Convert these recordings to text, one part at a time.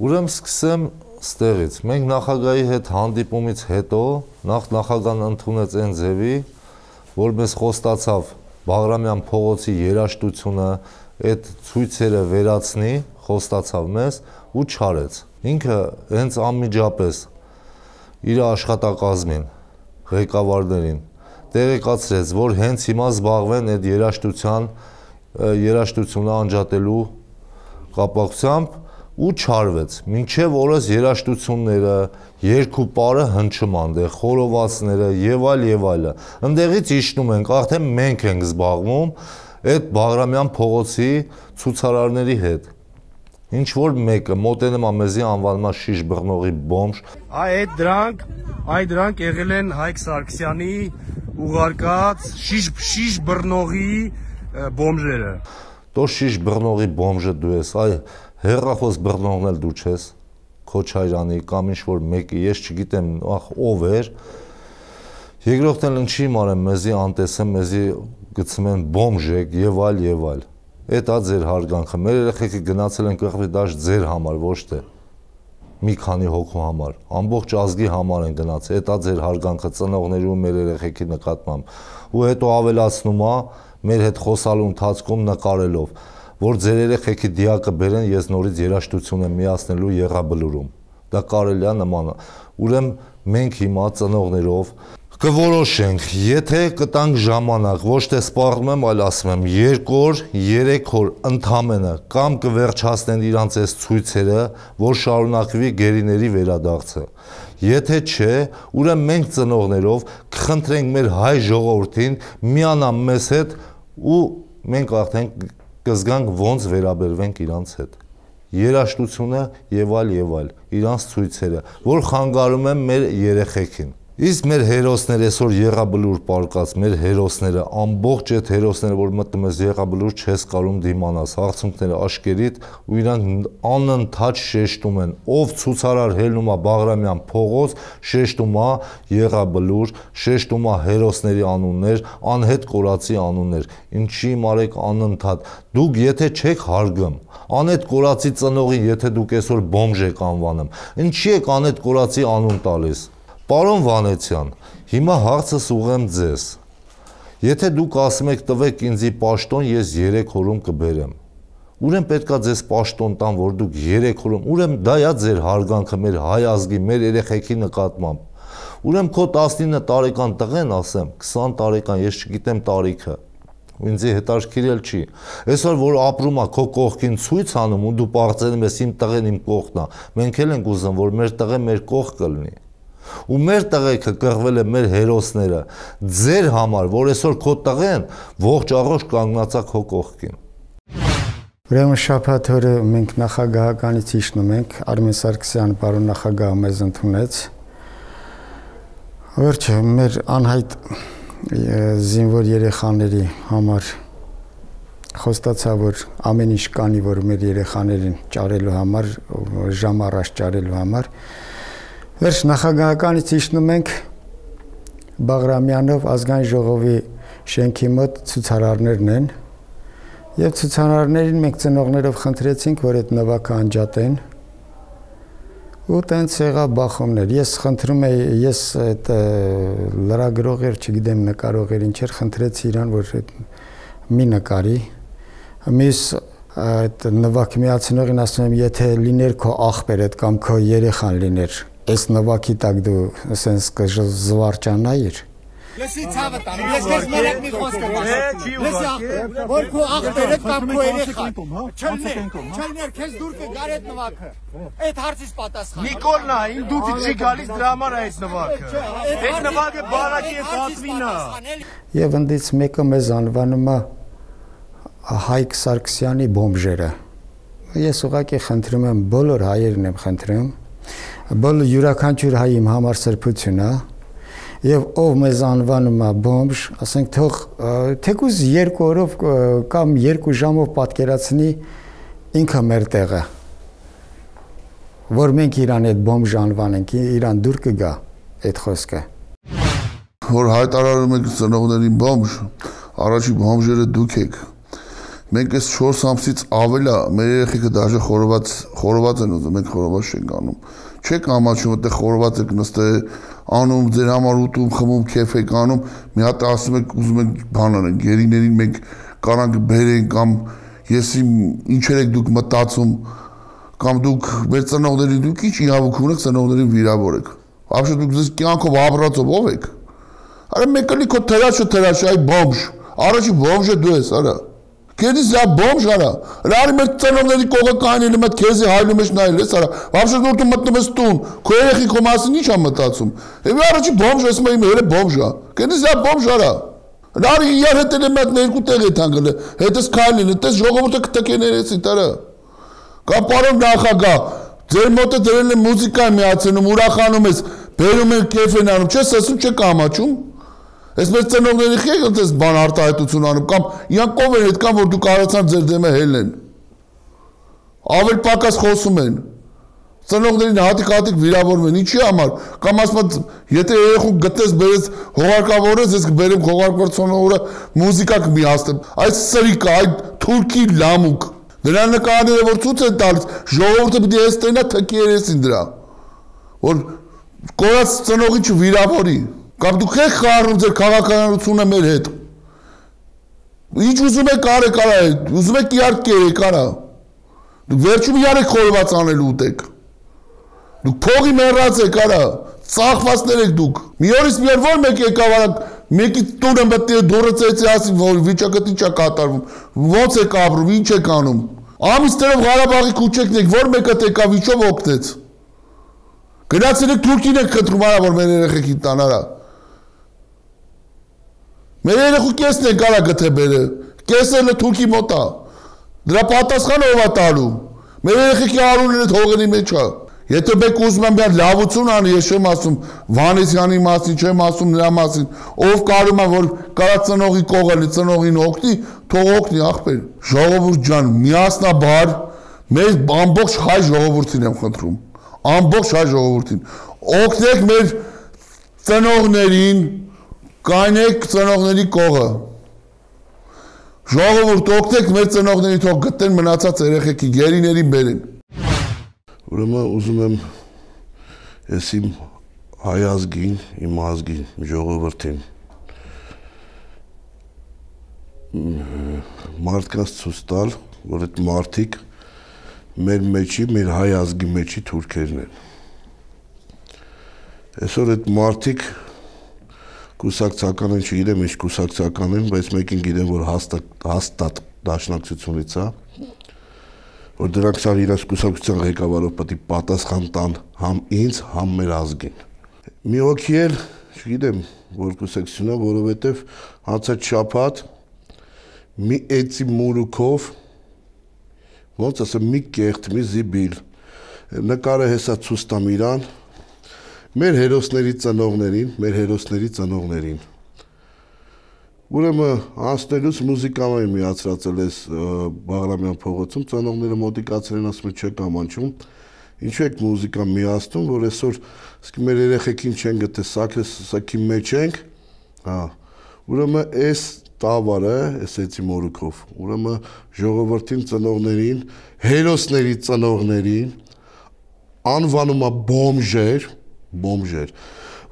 Ուրեմն սկսեմ ստեղից։ Մենք նախագահի հետ հանդիպումից հետո նախագահն ընդունեց այն ձևի, որ մեզ խոստացավ Բաղրամյան փողոցի երաժշտությունը, այդ ցույցերը վերացնի, խոստացավ մեզ ու չարեց։ Ինքը հենց անմիջապես իր աշխատակազմին, ղեկավարներին տեղեկացրեց, որ հենց հիմա զբաղվեն այդ երաժշտությունը անջատելու կապակցությամբ ու չարվեց, մինչև օրս երաժշտությունները, երկու պարը հնչում անդեղ, խորովածները եւ այլը։ Ընդեղից իջնում ենք, արդեն մենք ենք զբաղվում այդ Բաղրամյան փողոցի ցուցարարների հետ։ Ինչ որ մեկը մոտենում է մեզի անվանում է շիշ բռնողի բոմժ։ Այդ դրանք եղել են Հայկ Սարգսյանի ուղարկած շիշ բռնողի բոմժերը։ Դո շիշ բռնողի բոմժը դու ես, այ հեռախոս բռնողն էլ դու չես, Քոչարյանի կամ ինչ-որ մեկի, ես չգիտեմ ով էր, երկրորդն էլ ինչի մարեմ մեզի անտեսեմ, մեզի գցում են բոմժեք եւ այլ։ Էդ է ձեր հարգանքը, մեր երեխեքը գնացել են կղվի դաշտ ձեր համար, ոչ թե մի քանի հոգու համար, ամբողջ ազգի համար են գնացել, էդ է ձեր հարգանքը ծնողների ու մեր երեխեքի նկատմամբ, ու հետո ավելացնում է մեր հետ խոսալու ընթացքում նկարելով, որ ձեր երեխեքի դիակը բերեն, ես նորից երաժշտություն եմ միացնելու Եղաբլուրում։ Դա կարելի է նման։ Ուրեմն մենք հիմա ծնողներով կորոշենք, եթե կտանք ժամանակ, ոչ թե սպառնում եմ, այլ ասում եմ 2 օր, 3 օր ընդամենը կամ կվերջացնեն իրանց այս ցույցերը, որ շարունակվի գերիների վերադարձը։ Եթե չէ, ուրեմն մենք ծնողներով կխնդրենք մեր հայ ժողովրդին միանա մեզ հետ ու մենք արդեն կզգանք ոնց վերաբերվենք իրանց հետ։ Երաժշտությունը եւ այլ, իրանց ցույցերը, որ խանգարում են մեր երեխեքին։ Իսկ մեր հերոսները այսօր Եղաբլուր պարկած, մեր հերոսները, ամբողջ այդ հերոսները, որ մտնում ես Եղաբլուր, չես կարում դիմանաս, հարցունքները աշկերիդ ու իրանք անընդհատ շեշտում են, ով ցուցարար հելնում է Բաղրամյան փողոց, շեշտում է Եղաբլուր, շեշտում է հերոսների անուններ, անհետ կորածի անուններ, ինչի մարեք անընդհատ, դուք եթե չեք հարգում, անհետ կորածի ծնողին, եթե դուք այսօր բոմժ եք անվանում, ինչի եք անհետ կորածի անուն տալիս։ Պարոն Վանեցյան, հիմա հարցս ուղղեմ ձեզ, եթե դուք ասում եք տվեք ինձի պաշտոն, ես 3 օրում կբերեմ, ուրեմն պետքա ձեզ պաշտոն տան, որ դուք 3 օրում, ուրեմն դա է ձեր հարգանքը մեր հայ ազգի, մեր երեխեքի նկատմամբ, ուրեմն քո 19 տարեկան տղեն ասեմ, 20 տարեկան, ես չգիտեմ տարիքը, ինձի հետաքրքիր էլ չի, այսօր որ ապրում է քո կողքին ցույց անում ու դու պարծենում ես իմ տղեն իմ կողքն է, մենք էլ ենք ուզում, որ մեր տղեն մեր կողք կլինի։ Ու մեր տղեկը կղվել է մեր հերոսները ձեր համար, որ այսօր քո տղեն ողջ առողջ կանգնած է քո կողքին։ Ուրեմն շաբաթ օրը մենք նախագահականից իջնում ենք, Արմեն Սարգսյան պարոն նախագահը մեզ ընդունեց։ Վերջը մեր անհայտ զինվոր երեխաների համար խոստացա, որ ամեն ինչ կանի, որ մեր երեխաներին ճարելու համար, ժամ առաջ ճարելու համար։ Վերջ նախագահականից իջնում ենք Բաղրամյանով ազգային ժողովի շենքի մոտ ցուցարարներն են եւ ցուցարարներին մենք ծնողներով խնդրեցինք, որ այդ նվագը անջատեն ու տենց եղավ բախումներ։ Ես խնդրում եի, ես այդ լրագրողեր, չգիտեմ նկարողեր ինչեր, խնդրեցի իրան, որ մի նկարի։ Մյուս այդ նվագ միացնողին ասում եմ, եթե լիներ քո աղբեր այդ կամ քո երեխան լիներ, այս նվագի տակ դու ասենց կզվարճանայիր։ Լսի ցավը տամ, ես քեզ մերակ մի խոսք եմ ասում։ Որ քո աղբերը կամ քո երեխան չլներ, քեզ դուր կգար այդ նվագը։ Այդ հարցից պատասխան։ Նիկոլնա, ին դու չի գալիս դրա համար է այդ նվագը։ Այդ նվագը բարակի է պատվին է։ Եվ ընդից մեկը մեզ անվանում է Հայկ Սարգսյանի բոմժերը։ Ես ուղղակի խնդրում եմ, բոլոր հայերն եմ խնդրում, բոլոր յուրաքանչյուր հայ իմ համար սրբություն է, եւ ով մեզ անվանում է բոմժ, ասենք թող թեկուզ 2 օրով կամ 2 ժամով պատկերացնի ինքը մեր տեղը, որ մենք իրան այդ բոմժ անվանենք, իրան դուր կգա այդ խոսքը։ Որ հայտարարում եք ծնողներին բոմժ, առաջի բոմժերը դուք եք։ Մենք այս 4 ամսից ավել է, մեր երեխեքը դաժե խորոված են ուզում, մենք խորոված չենք անում։ Չեք ամաչում, այդտեղ խորոված եք նստել, անում, ձեր համար ուտում, խմում, քեֆ եք անում, մի հատ ասում եք ուզում եք բան անենք, գերիներին մենք կանանք բերենք կամ եսի ինչեր եք դուք մտածում, կամ դուք մեր ծնողների դուք ինչ իրավունք ունեք ծնողներին վիրավորեք։ Вообще դուք ձեզ կյանքով ապրածով ով եք։ Արա մեկը լի քո թերաշը այ բոմժ, առաջի բոմժը դու ես, արա։ Քեզի զա բոմժ արա։ Լարի մեր ծնողների կողը կանելը մտ քեզի հայլում ես նայել ես, արա։ Вообще դու մտնում ես տուն, քո երեխի քո մասին ի՞նչ ա մտածում։ Եվ առաջի բոմժ ես մայ մերը բոմժ ա։ Քեզի զա բոմժ արա։ Լարի իրար հետել է մտ երկու տեղ է թանգել, հետս քայլին, հետս ժողովուրդը կտկեներեցի տարա։ Կամ պարոն նախագահ, ձեր մոտը դրել է մուզիկա միացնում, ուրախանում ես, բերում են կեֆ են անում, չես ասում չեք ամաչում։ Ես մեր ծնողների խեք այդպես բան արտահայտություն անում, կամ իրանք ով են այդքան, որ դուք կարացան ձեր դեմը հելնեն։ Ավել պակաս խոսում են։ Ծնողներին հատիկ վիրավորում են, ինչի համար, կամ ասում եթե երեխու գտես բերես հողարկավորես, ես կբերեմ հողարկվորցոնողը մուզիկա կմիացնեմ, այդ սրիկա, այդ թուրքի լամուկ, դրա նկարները որ ցույց են տալիս, ժողովուրդը պիտի ես տենա թքի երեսին դրա, որ կորած ծնողին չվիրավորի, կամ դուք եք խառնում ձեր քաղաքականությունը մեր հետ, ինչ ուզում եք արեք արա, ուզում եք իրար կերեք արա, դուք վերջում իրար եք խորված անելու ուտեք, դուք փողի մեռած եք արա, ծախվածներ եք դուք, մի օրից մի օր որ մեկ եկավ արա, մեկի տունը մտնի դուրը ծեցի ասի, որ վիճակը ինչ է կատարվում, ոնց եք ապրում, ինչ եք անում, ամիսներով Ղարաբաղի քուչեկն եք, որ մեկը եկավ իջով օգնեց, գնացել եք Թուրքին եք խնդրում արա, որ մեր երեխեքին տան արա, մեր երեխու կեսն եք արա գթե բերը, կեսը Թուրքի մոտ է, դրա պատասխանը ով է տալու, մեր երեխեքի արունն այդ հողերի մեջ է, եթե մեկ ուզում եմ միան լավություն անի, ես չեմ ասում Վանեսյանի մասին, չեմ ասում նրա մասին, ով կարում է, որ կարա ծնողի կողալի, ծնողին օգնի, թող օգնի ախպեր, ժողովուրդ ջան, միասնաբար, մեր ամբողջ հայ ժողովուրդին եմ խնդրում, ամբողջ հայ ժողովուրդին, օգնեք մեր ծնողներին, կանեք ծնողների կողը, ժողովուրդ օգնեք մեր ծնողներին թող գտեն մնացած երեխեքի գերիներին բերեն։ Ուրեմն ուզում եմ ես իմ հայ ազգին, իմ ազգին, ժողովրդին մարդկանց ցույց տալ, որ այդ մարդիկ մեր մեջի, մեր հայ ազգի մեջի թուրքերն են։ Այսօր այդ մարդիկ կուսակցական են, չգիտեմ ինչ կուսակցական են, բայց մեկին գիտեմ, որ հաստատ դաշնակցությունից է, որ դրանք սա իրաց կուսակցության ղեկավարով պետք է պատասխան տան համ ինձ, համ մեր ազգին։ Մի հոգի էլ, չգիտեմ, որ կուսակցությունա, որովհետև անցած շաբաթ մի էծի մուրուքով, ոնց ասեմ, մի կեղտ, մի զիբիլ, նկարը հեսա ցույց տամ իրան, մեր հերոսների ծնողներին, Ուրեմն անցնելուց մուզիկան միացրածել ես Բաղրամյան փողոցում, ծնողները մոտիկացել են ասում չեք ամանչում, ինչու եք մուզիկան միացնում, որ այսօր մեր երեխեքին չեն գտե սաքի մեջ ենք, ուրեմն այս տավարը, այս էծի մորուքով, ուրեմն ժողովրդին ծնողներին, հերոսների ծնողներին անվանում է բոմժեր,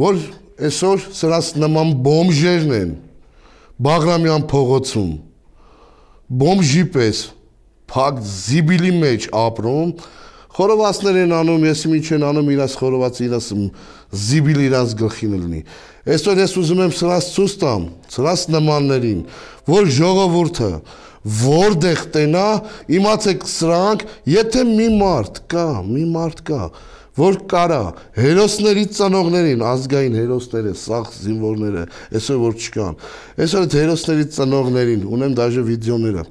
որ այսօր սրանց նման բոմժերն են Բաղրամյան փողոցում բոմժի պես փակ զիբիլի մեջ ապրում, խորովածներ են անում, ես ինչ են անում իրաց խորոված իրաց զիբիլ իրանց գլխին լինի։ Այսօր ես ուզում եմ սրանց ցույց տամ, սրանց նմաններին, որ ժողովուրդը որտեղ տենա, իմացեք սրանք, եթե մի մարդ կա, որ կարա հերոսների ծնողներին, ազգային հերոսները, սաղ զինվորները, այսօր որ չկան, այսօր այդ հերոսների ծնողներին, ունեմ դաժե վիդեոները,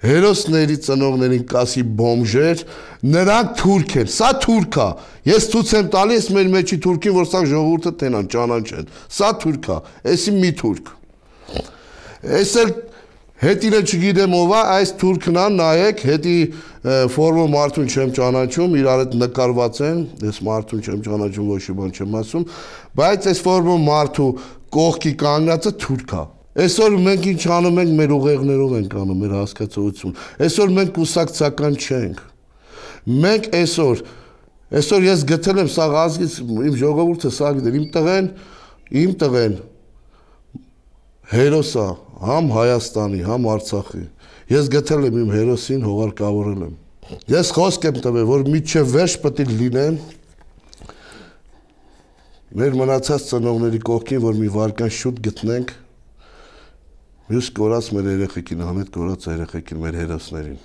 հերոսների ծնողներին կասի բոմժեր, նրանք թուրք են, սա թուրք է, ես ցույց եմ տալիս մեր մեջի թուրքին, որ սա ժողովուրդը տենան, ճանաչեն, սա թուրք է, էսի մի թուրք, այս էլ հետինը չգիտեմ ով է, այս թուրքն է, նայեք, հետի ֆորմը մարդուն չեմ ճանաչում, իրար հետ նկարված են, ես մարդուն չեմ ճանաչում, ոչ մի բան չեմ ասում, բայց այս ֆորմը մարդու կողքի կանգնածը թուրք է, Այսօր մենք ինչ անում ենք, մեր ուղեղներով ենք անում, մեր հասկացողություն։ Այսօր մենք կուսակցական չենք։ Մենք այսօր ես գտել եմ սա ազգից, իմ ժողովուրդը սա գիտեր, իմ տղեն հերոս է, համ Հայաստանի, համ Արցախի։ Ես գտել եմ իմ հերոսին, հողարկավորել եմ։ Ես խոսք եմ տվել, որ մինչև վերջ պետք է լինեն մեր մնացած ծնողների կողքին, որ մի վարկան շուտ գտնենք մյուս կորած մեր երեխեքին, համետ կորած երեխեքին, մեր հերոսներին։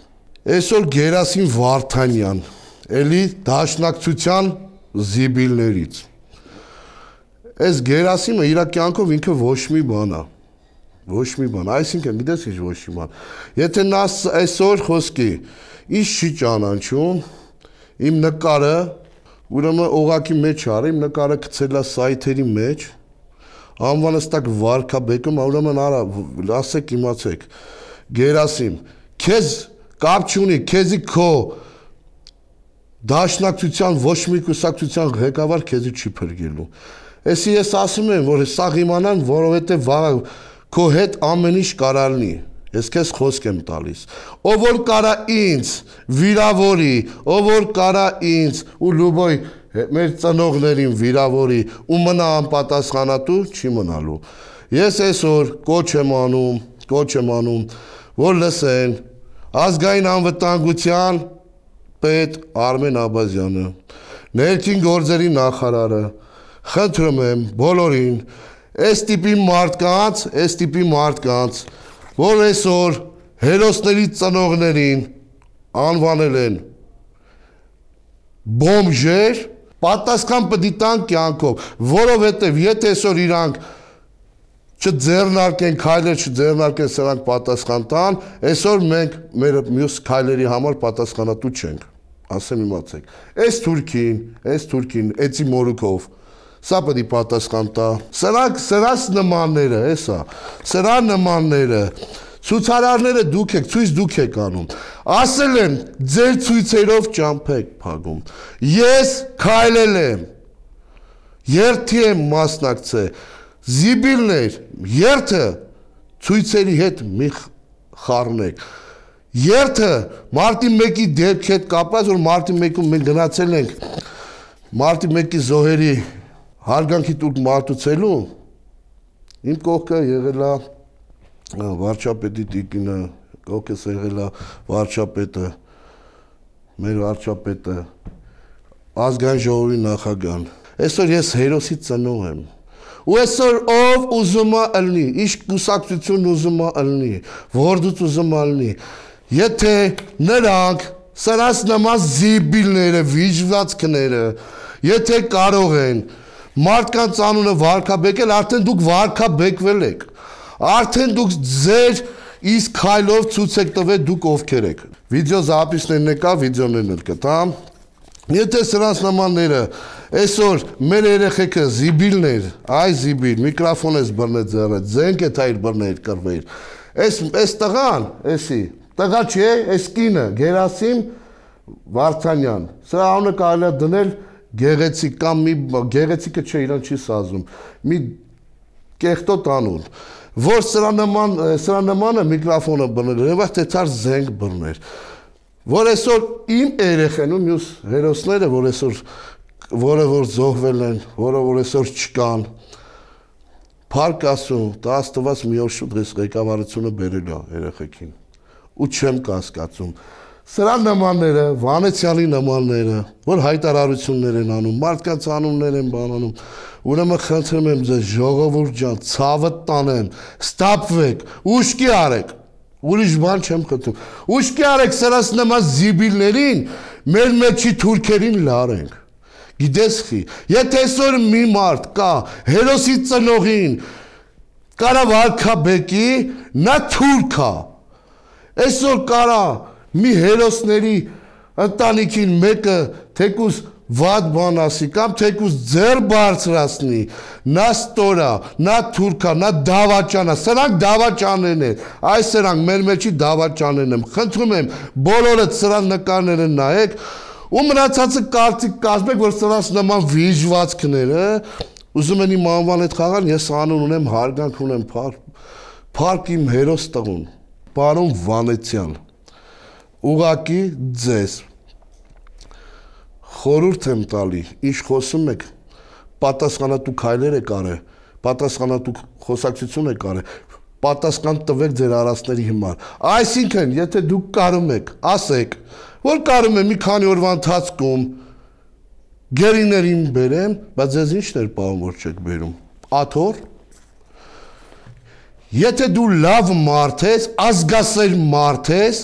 Այսօր Գերասիմ Վարդանյան, էլի դաշնակցության զիբիլներից։ Այս Գերասիմը իր կյանքով ինքը ոչ մի բան է։ Ոչ մի բան, այսինքն գիտես ինչ ոչ մի բան։ Եթե նա այսօր խոսքի, ինչ չի ճանաչում, իմ նկարը, ուրեմն օղակի մեջ արի, իմ նկարը գցել է սայթերի մեջ, անվանստակ վարքաբեկում, ուրեմն արա, ասեք իմացեք, Գերասիմ, քեզ կապ չունի, քեզի քո դաշնակցության ոչ մի կուսակցության ղեկավար քեզի չի փրկելու։ Էսի ես ասում եմ, որ սա իմանան, որովհետև քո հետ ամեն ինչ կարող լինի։ Ես քեզ խոսք եմ տալիս։ Ով որ կարա ինձ վիրավորի, ով որ կարա ինձ ու լուբոյ մեր ծնողներին վիրավորի ու մնա անպատասխանատու, չի մնալու։ Ես այսօր կոչ եմ անում, որ լսեն ազգային անվտանգության պետ Արմեն Աբազյանը, ներքին գործերի նախարարը, խնդրում եմ բոլորին, այս տիպի մարդկանց, որ այսօր հերոսների ծնողներին անվանել են բոմժեր, պատասխան պետք է տան կյանքով, որովհետև եթե այսօր իրանք չձեռնարկեն քայլեր, չձեռնարկեն սրանք պատասխան տան, այսօր մենք մեր մյուս քայլերի համար պատասխանատու չենք, ասեմ իմացեք։ Այս թուրքին, էցի մորուքով, սա պետք է պատասխան տա։ Սրանց նմանները, սրա նմանները, ցուցարարները դուք եք անում։ Ասել եմ, ձեր ցույցերով ճամփ եք փակում։ Ես քայլել եմ, երթի եմ մասնակցել, զիբիլներ, երթը ցույցերի հետ մի խառնեք։ Երթը մարտի 1-ի դեպքի հետ կապված, որ մարտի 1-ում մենք գնացել ենք մարտի 1-ի զոհերի հարգանքի տուրք մարտուցելու, իմ կողքը եղել է վարչապետի տիկինը, կողքս եղել է վարչապետը, մեր վարչապետը, ազգային ժողովի նախագահան։ Այսօր ես հերոսի ծնող եմ։ Ու այսօր ով ուզում է ըլնի, ինչ կուսակցություն ուզում է ըլնի, որդուց ուզում է ըլնի, եթե նրանք սրանց նման զիբիլները, վիճվածքները, եթե կարող են մարդկանց անունը վարքաբեկել, արդեն դուք վարքաբեկվել եք, արդեն դուք ձեր իսկ քայլով ցույց եք տվել դուք ովքեր եք։ Վիդեո զապիսներն եկա, վիդեոներն էլ կտամ։ Եթե սրանց նմանները այսօր մեր երեխեքը զիբիլներ, այ զիբիլ, միկրոֆոն ես բռնել ձեռը, ձենք է թայր բռնել կրվեր։ Այս տղան, էսի, տղա չէ, այս կինը, Գերասիմ Վարդանյան, սրա անունը կարելի է դնել գեղեցիկ կամ մի գեղեցիկը չէ, իրան չի սազում, մի կեղտոտ անուն, որ սրա նմանը միկրոֆոնը բռնել, եւ թե ցար զենք բռներ, որ այսօր իմ երեխեն ու մյուս հերոսները, որ այսօր որ զոհվել են, որ այսօր չկան, փառք ասում, դա Աստված մի օր շուտ այս ղեկավարությունը բերել է երեխեքին, ու չեմ կասկածում։ Սրա նմանները, Վանեցյալի նմանները, որ հայտարարություններ են անում, մարդկանց անուններ են բանանում, ուրեմն խնդրում եմ ձեզ ժողովուրդ ջան, ցավը տանեմ, ստապվեք, ուշքի արեք, ուրիշ բան չեմ խնդրում, ուշքի արեք սրանց նման զիբիլներին, մեր մեջի թուրքերին լարենք, գիտես խի, եթե այսօր մի մարդ կա, հերոսի ծնողին, կարա վարքաբեկի, նա թուրք է, այսօր կարա մի հերոսների ընտանիքին մեկը թեկուզ վատ բան ասի կամ թեկուզ ձեռ բարձրացնի, նա ստորա, նա թուրքա, նա դավաճանա, սրանք դավաճաններն են, այս սրանք մեր մեջի դավաճաններն են, խնդրում եմ բոլորդ սրանք նկարները նայեք ու մնացածը կարծիք կազմեք, որ սրանց նման վիժվածքները ուզում են իմ անվան հետ խաղալ, ես անուն ունեմ, հարգանք ունեմ, Փառք իմ հերոս տղուն, պարոն Վանեցյան, ուղակի ձեզ խորհուրդ եմ տալի, ինչ խոսում եք, պատասխանատու քայլեր եք արել, պատասխանատու խոսակցություն եք արել, պատասխան տվեք ձեր արածների հիմար։ Այսինքն, եթե դուք կարում եք, ասեք, որ կարում եմ մի քանի օրվա ընթացքում գերիներին բերեմ, բայց ձեզ ինչն էր պահում, որ չեք բերում։ Աթոռ։ Եթե դու լավ մարդ ես, ազգասեր մարդ ես,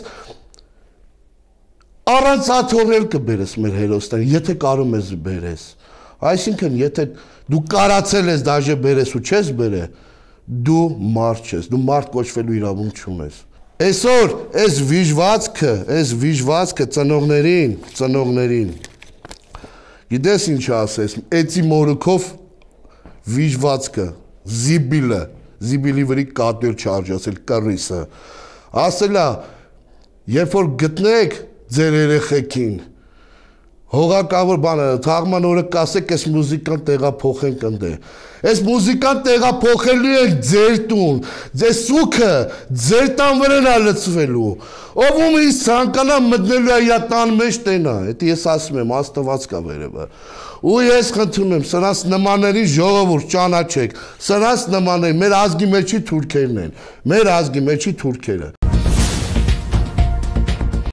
առանց աթոռել կբերես մեր հերոսներին, եթե կարում ես բերես։ Այսինքն, եթե դու կարացել ես դաժե բերես ու չես բերե, դու մարդ չես, դու մարդ կոչվելու իրավունք չունես։ Այսօր այս վիժվածքը ծնողներին գիտես ինչ ասես, էծի մորուքով վիժվածքը, զիբիլի վրի կատներ չարժասել, կռիսը, ասելա, երբ որ գտնեք ձեր երեխեքին, հողակավոր բանը, թաղման օրը կասեք, այս մուզիկան տեղափոխենք ընդ է, այս մուզիկան տեղափոխելու եք ձեր տուն, ձեր սուքը ձեր տան վրան է լցվելու, ով ում ինձ ցանկանա մտնելու է իր տան մեջ տենա, դա ես ասում եմ, Աստված կա վերևը, ու ես խնդրում եմ, սրանց նմանների ժողովուրդ ճանաչեք, սրանց նմանների, մեր ազգի մեջի թուրքերն են, մեր ազգի մեջի թուրքերը